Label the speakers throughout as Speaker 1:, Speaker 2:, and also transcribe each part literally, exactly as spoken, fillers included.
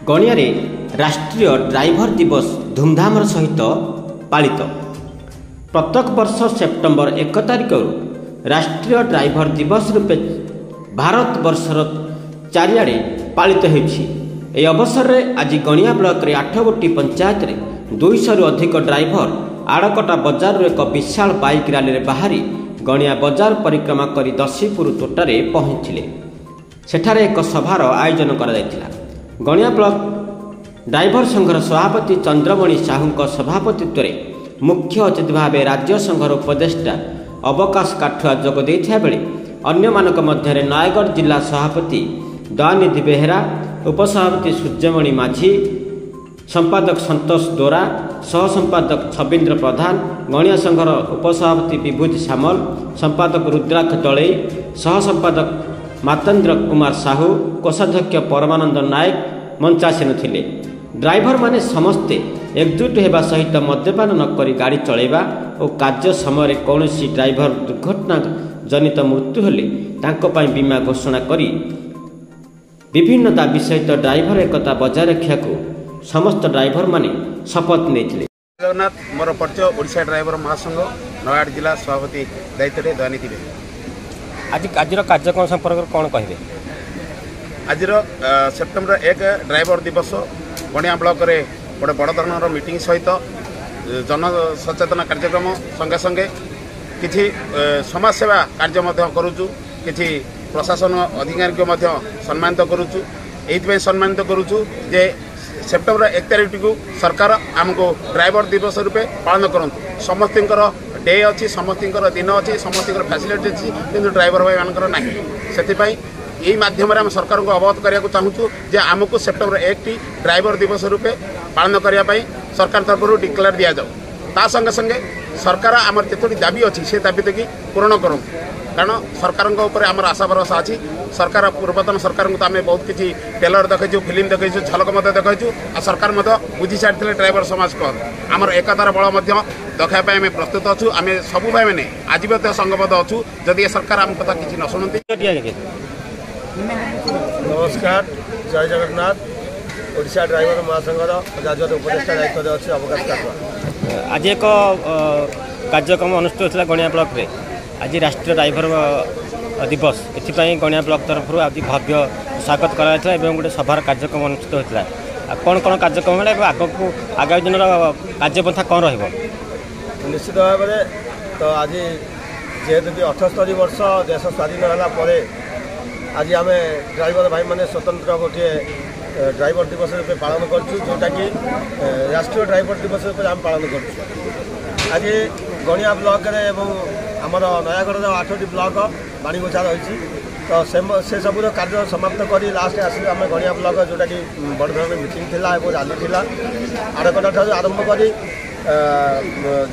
Speaker 1: ଗଣିଆରେ ରାଷ୍ଟ୍ରୀୟ ଡ୍ରାଇଭର ଦିବସ ଧୁମଧାମର ସହିତ ପାଳିତ। ପ୍ରତ୍ୟେକ ବର୍ଷ ସେପ୍ଟେମ୍ବର ଏକ ତାରିଖରୁ ରାଷ୍ଟ୍ରୀୟ ଡ୍ରାଇଭର ଦିବସ ରୂପେ ଭାରତ ବର୍ଷର ଚାରିଆଡ଼େ ପାଳିତ ହେଉଛି। ଏହି ଅବସରରେ ଆଜି ଗଣିଆ ବ୍ଲକରେ ଆଠ ଗୋଟି ପଞ୍ଚାୟତରେ ଦୁଇଶହରୁ ଅଧିକ ଡ୍ରାଇଭର ଆଡ଼କଟା ବଜାରରୁ ଏକ ବିଶାଳ ବାଇକ୍ ରାଲିରେ ବାହାରି ଗଣିଆ ବଜାର ପରିକ୍ରମା କରି ଦଶୀପୁର ତୋଟାରେ ପହଞ୍ଚିଲେ। ସେଠାରେ ଏକ ସଭାର ଆୟୋଜନ କରାଯାଇଥିଲା। ଗଣିଆ ବ୍ଲକ ଡ୍ରାଇଭର ସଂଘର ସଭାପତି ଚନ୍ଦ୍ରମଣି ସାହୁଙ୍କ ସଭାପତିତ୍ୱରେ ମୁଖ୍ୟ ଅତିଥି ଭାବେ ରାଜ୍ୟ ସଂଘର ଉପଦେଷ୍ଟା ଅବକାଶ କାଠୁଆ ଯୋଗ ଦେଇଥିବା ବେଳେ ଅନ୍ୟମାନଙ୍କ ମଧ୍ୟରେ ନୟାଗଡ଼ ଜିଲ୍ଲା ସଭାପତି ଦୟାନିଧି ବେହେରା, ଉପସଭାପତି ସୂର୍ଯ୍ୟମଣି ମାଝୀ, ସମ୍ପାଦକ ସନ୍ତୋଷ ଦୋରା, ସହ ସମ୍ପାଦକ ଛବିନ୍ଦ୍ର ପ୍ରଧାନ, ଗଣିଆ ସଂଘର ଉପସଭାପତି ବିଭୂତି ସାମଲ, ସମ୍ପାଦକ ରୁଦ୍ରାକ୍ଷ ଦଳେଇ, ସହ ସମ୍ପାଦକ ମାତେନ୍ଦ୍ର କୁମାର ସାହୁ, କୋଷାଧ୍ୟକ୍ଷ ପରମାନନ୍ଦ ନାୟକ ମଞ୍ଚାସୀନ ଥିଲେ। ଡ୍ରାଇଭରମାନେ ସମସ୍ତେ ଏକଜୁଟ ହେବା ସହିତ ମଦ୍ୟପାନ ନ କରି ଗାଡ଼ି ଚଳାଇବା ଓ କାର୍ଯ୍ୟ ସମୟରେ କୌଣସି ଡ୍ରାଇଭର ଦୁର୍ଘଟଣା ଜନିତ ମୃତ୍ୟୁ ହେଲେ ତାଙ୍କ ପାଇଁ ବୀମା ଘୋଷଣା କରି ବିଭିନ୍ନ ଦାବି ସହିତ ଡ୍ରାଇଭର ଏକତା ବଜାୟ ରଖିବାକୁ ସମସ୍ତ ଡ୍ରାଇଭରମାନେ ଶପଥ ନେଇଥିଲେ।
Speaker 2: ଜଗନ୍ନାଥ, ମୋର ପରିଚୟ ଓଡ଼ିଶା ଡ୍ରାଇଭର ମହାସଂଘ ନୟାଗଡ଼ ଜିଲ୍ଲା ସଭାପତି ଦାୟିତ୍ୱରେ ଦୟାନିଧି ବେହେରା।
Speaker 1: ଆଜି ଆଜିର କାର୍ଯ୍ୟକ୍ରମ ସମ୍ପର୍କରେ କ'ଣ କହିବେ?
Speaker 2: ଆଜିର ସେପ୍ଟେମ୍ବର ଏକ ଡ୍ରାଇଭର ଦିବସ ଗଣିଆ ବ୍ଲକରେ ଗୋଟେ ବଡ଼ ଧରଣର ମିଟିଂ ସହିତ ଜନସଚେତନ କାର୍ଯ୍ୟକ୍ରମ ସଙ୍ଗେ ସଙ୍ଗେ କିଛି ସମାଜସେବା କାର୍ଯ୍ୟ ମଧ୍ୟ କରୁଛୁ। କିଛି ପ୍ରଶାସନ ଅଧିକାରୀଙ୍କୁ ମଧ୍ୟ ସମ୍ମାନିତ କରୁଛୁ। ଏଇଥିପାଇଁ ସମ୍ମାନିତ କରୁଛୁ ଯେ ସେପ୍ଟେମ୍ବର ଏକ ତାରିଖଟିକୁ ସରକାର ଆମକୁ ଡ୍ରାଇଭର ଦିବସ ରୂପେ ପାଳନ କରନ୍ତୁ। ସମସ୍ତଙ୍କର ଡେ ଅଛି, ସମସ୍ତଙ୍କର ଦିନ ଅଛି, ସମସ୍ତଙ୍କର ଫ୍ୟାସିଲିଟି ଅଛି, କିନ୍ତୁ ଡ୍ରାଇଭର ଭାଇମାନଙ୍କର ନାହିଁ। ସେଥିପାଇଁ ଏଇ ମାଧ୍ୟମରେ ଆମେ ସରକାରଙ୍କୁ ଅବଗତ କରିବାକୁ ଚାହୁଁଛୁ ଯେ ଆମକୁ ସେପ୍ଟେମ୍ବର ଏକଟି ଡ୍ରାଇଭର ଦିବସ ରୂପେ ପାଳନ କରିବା ପାଇଁ ସରକାର ତରଫରୁ ଡିକ୍ଲେୟାର ଦିଆଯାଉ। ତା ସଙ୍ଗେ ସଙ୍ଗେ ସରକାର ଆମର ଯେତୋଟି ଦାବି ଅଛି ସେ ଦାବି ପୂରଣ କରନ୍ତୁ, କାରଣ ସରକାରଙ୍କ ଉପରେ ଆମର ଆଶା ଭରସା ଅଛି। ସରକାର ପୂର୍ବତନ ସରକାରଙ୍କୁ ତ ଆମେ ବହୁତ କିଛି ଟେଲର ଦେଖାଇଛୁ, ଫିଲ୍ମ ଦେଖାଇଛୁ, ଝଲକ ମଧ୍ୟ ଦେଖାଇଛୁ, ଆଉ ସରକାର ମଧ୍ୟ ବୁଝି ସାରିଥିଲେ ଡ୍ରାଇଭର ସମାଜ କ'ଣ। ଆମର ଏକତାର ବଳ ମଧ୍ୟ ଦେଖାଇବା ପାଇଁ ଆମେ ପ୍ରସ୍ତୁତ ଅଛୁ। ଆମେ ସବୁ ଭାଇମାନେ ଆଜି ମଧ୍ୟ ସଂଘବଦ୍ଧ ଅଛୁ। ଯଦି ଏ ସରକାର ଆମ କଥା କିଛି ନ ଶୁଣନ୍ତି।
Speaker 3: ନମସ୍କାର, ଜୟ ଜଗନ୍ନାଥ। ଓଡ଼ିଶା ଡ୍ରାଇଭର ମହାସଂଘର ରାଜ୍ୟର ଉପଦେଷ୍ଟା ଦାୟିତ୍ୱରେ ଅଛି ଅବକାଶ କାଠୁଆ।
Speaker 1: ଆଜି ଏକ କାର୍ଯ୍ୟକ୍ରମ ଅନୁଷ୍ଠିତ ହୋଇଥିଲା ଗଣିଆ ବ୍ଲକରେ। ଆଜି ରାଷ୍ଟ୍ରୀୟ ଡ୍ରାଇଭର ଦିବସ, ଏଥିପାଇଁ ଗଣିଆ ବ୍ଲକ ତରଫରୁ ଆଜି ଭବ୍ୟ ସ୍ୱାଗତ କରାଯାଇଥିଲା ଏବଂ ଗୋଟେ ସଭାର କାର୍ଯ୍ୟକ୍ରମ ଅନୁଷ୍ଠିତ ହୋଇଥିଲା। ଆଉ କ'ଣ କ'ଣ କାର୍ଯ୍ୟକ୍ରମ ହେଲା ଏବଂ ଆଗକୁ ଆଗାମୀ ଦିନର କାର୍ଯ୍ୟପନ୍ଥା କ'ଣ ରହିବ?
Speaker 3: ନିଶ୍ଚିତ ଭାବରେ ତ ଆଜି ଯେହେତୁ କି ଅଠସ୍ତରୀ ବର୍ଷ ଦେଶ ସ୍ୱାଧୀନ ହେଲା ପରେ ଆଜି ଆମେ ଡ୍ରାଇଭର ଭାଇମାନେ ସ୍ୱତନ୍ତ୍ର ଗୋଟିଏ ଡ୍ରାଇଭର ଦିବସ ରୂପେ ପାଳନ କରୁଛୁ, ଯେଉଁଟାକି ରାଷ୍ଟ୍ରୀୟ ଡ୍ରାଇଭର ଦିବସ ରୂପେ ଆମେ ପାଳନ କରୁଛୁ। ଆଜି ଗଣିଆ ବ୍ଲକରେ ଏବଂ ଆମର ନୟାଗଡ଼ର ଆଠଟି ବ୍ଲକ ବାଣୀଗୋଛା ରହିଛି, ତ ସେସବୁର କାର୍ଯ୍ୟ ସମାପ୍ତ କରି ଲାଷ୍ଟ ଆସିଲୁ ଆମେ ଗଣିଆ ବ୍ଲକ, ଯେଉଁଟାକି ବଡ଼ ଧରଣର ମିଟିଂ ଥିଲା ଏବଂ ରାଲି ଥିଲା। ଆଡ଼କଟା ଠାରୁ ଆରମ୍ଭ କରି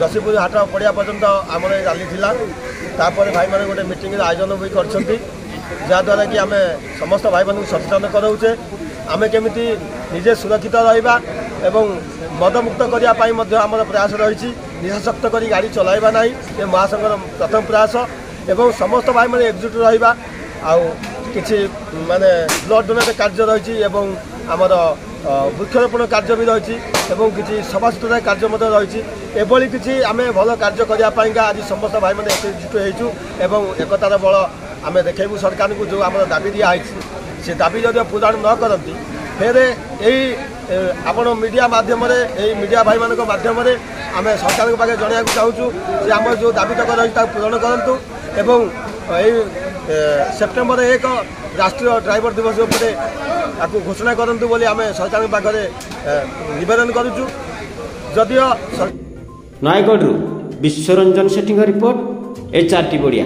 Speaker 3: ଯଶୀପୁର ହାଟ ପଡ଼ିଆ ପର୍ଯ୍ୟନ୍ତ ଆମର ଏ ରାଲି ଥିଲା। ତାପରେ ଭାଇମାନେ ଗୋଟେ ମିଟିଂର ଆୟୋଜନ ବି କରିଛନ୍ତି, ଯାହାଦ୍ୱାରା କି ଆମେ ସମସ୍ତ ଭାଇମାନଙ୍କୁ ସଚେତନ କରାଉଛେ ଆମେ କେମିତି ନିଜେ ସୁରକ୍ଷିତ ରହିବା ଏବଂ ମଦମୁକ୍ତ କରିବା ପାଇଁ ମଧ୍ୟ ଆମର ପ୍ରୟାସ ରହିଛି। ନିଶାସକ୍ତ କରି ଗାଡ଼ି ଚଲାଇବା ନାହିଁ, ଏ ମହାସଂଘର ପ୍ରଥମ ପ୍ରୟାସ, ଏବଂ ସମସ୍ତ ଭାଇମାନେ ଏକଜୁଟ ରହିବା। ଆଉ କିଛି ମାନେ ବ୍ଲଡ଼ ଡୋନେଟ୍ କାର୍ଯ୍ୟ ରହିଛି ଏବଂ ଆମର ବୃକ୍ଷରୋପଣ କାର୍ଯ୍ୟ ବି ରହିଛି ଏବଂ କିଛି ସଫାସୁତୁରା କାର୍ଯ୍ୟ ମଧ୍ୟ ରହିଛି। ଏଭଳି କିଛି ଆମେ ଭଲ କାର୍ଯ୍ୟ କରିବା ପାଇଁକା ଆଜି ସମସ୍ତ ଭାଇମାନେ ଏକଜୁଟ ହେଇଛୁ ଏବଂ ଏକତାର ବଳ ଆମେ ଦେଖାଇବୁ ସରକାରଙ୍କୁ। ଯେଉଁ ଆମର ଦାବି ଦିଆହେଇଛି ସେ ଦାବି ଯଦି ପୂରଣ ନ କରନ୍ତି, ଫେରେ ଏଇ ଆପଣ ମିଡ଼ିଆ ମାଧ୍ୟମରେ, ଏଇ ମିଡ଼ିଆ ଭାଇମାନଙ୍କ ମାଧ୍ୟମରେ ଆମେ ସରକାରଙ୍କ ପାଖରେ ଜଣାଇବାକୁ ଚାହୁଁଛୁ ଯେ ଆମର ଯେଉଁ ଦାବି ତକ ରହିଛି ତାକୁ ପୂରଣ କରନ୍ତୁ ଏବଂ ଏଇ ସେପ୍ଟେମ୍ବର ଏକ ରାଷ୍ଟ୍ରୀୟ ଡ୍ରାଇଭର ଦିବସ ଉପରେ ତାକୁ ଘୋଷଣା କରନ୍ତୁ ବୋଲି ଆମେ ସରକାରଙ୍କ ପାଖରେ ନିବେଦନ କରୁଛୁ। ଯଦିଓ
Speaker 1: ନୟାଗଡ଼ରୁ ବିଶ୍ୱରଞ୍ଜନ ସେଠୀଙ୍କ ରିପୋର୍ଟ, ଏଚ୍ ଆର୍ ଟି ଓଡ଼ିଆ।